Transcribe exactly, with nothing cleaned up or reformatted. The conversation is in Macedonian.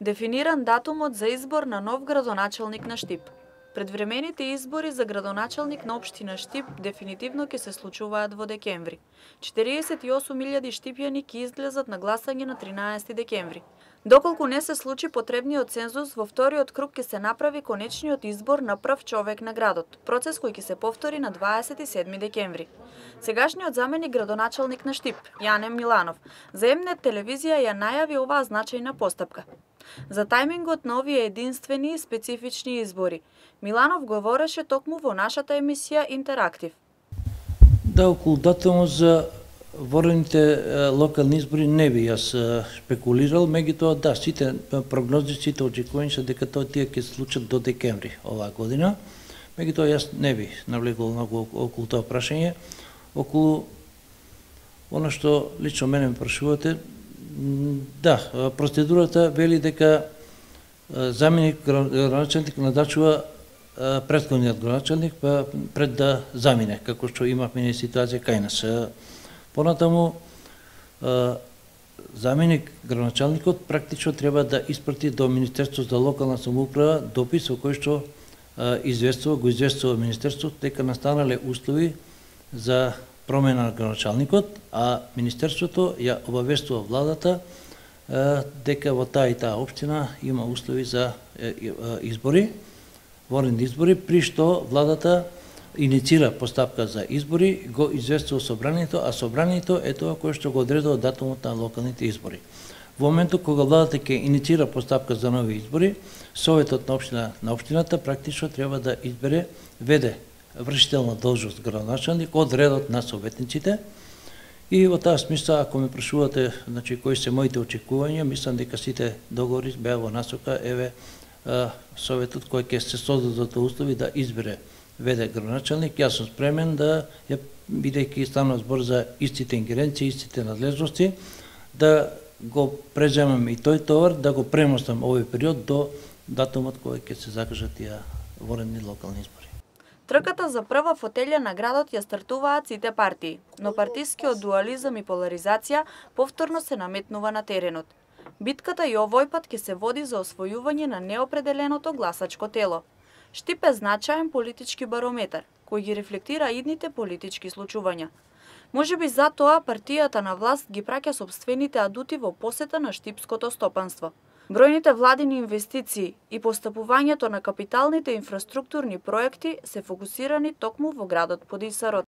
Дефиниран датумот за избор на нов градоначалник на Штип. Предвремените избори за градоначалник на општина Штип дефинитивно ќе се случуваат во декември. четириесет и осум илјади штипјани ќе излезат на гласање на тринаесети декември. Доколку не се случи потребниот цензус, во вториот круг ќе се направи конечниот избор на прв човек на градот, процес кој ќе се повтори на дваесет и седми декември. Сегашниот заменик градоначалник на Штип, Јане Миланов, за М-нет телевизија ја најави оваа значајна постапка. За тајмингот на овие единствени и специфични избори, Миланов говореше токму во нашата емисија Интерактив. Да, околу датумот за ворените локални избори не би јас спекулирал, меѓутоа да, сите прогнози, сите очекувања се дека тоа тие ќе се случат до декември оваа година. Меѓутоа јас не би навлегол многу околу тоа прашање. Околу она што лично мене ме прашувате, да, процедурата вели дека заменик градоначалник назначува претходниот градоначалник пред да замине, како што имавме ситуација кај нас. Понатаму, заменик градоначалникот практично треба да испрати до Министерството за локална самоуправа допис во кој што известува, го известува Министерството дека настанале услови за промена на градоначалникот, а Министерството ја обавестува владата дека во таа и таа општина има услови за избори, ворени избори, при што владата иницира постапка за избори, го известува собранието, а собранието е тоа кое што го одредува датумот на локалните избори. Во моментот кога владата ќе иницира постапка за нови избори, советот на општина на општината практично треба да избере веде вршител на должност градоначалник од редот на советниците. И во таа смисла, ако ме прашувате, значи кои се моите очекувања, мислам дека сите договори беа во насока еве советот кој ќе се создадат услови да избере веде градоначалник. Јас сум спремен да, бидејќи станува збор за истите ингеренции, истите надлежности, да го преземам и тој товар, да го премостам овој период до датумот кој ќе се закажат тие ворени локални избори. Трката за прва фотелја на градот ја стартуваат сите партии, но партискиот дуализам и поларизација повторно се наметнува на теренот. Битката и овој пат ќе се води за освојување на неопределеното гласачко тело. Штип е значаен политички барометар, кој ги рефлектира идните политички случувања. Можеби затоа партијата на власт ги праќа сопствените адути во посета на штипското стопанство. Бројните владини инвестиции и постапувањето на капиталните инфраструктурни проекти се фокусирани токму во градот Подисарот.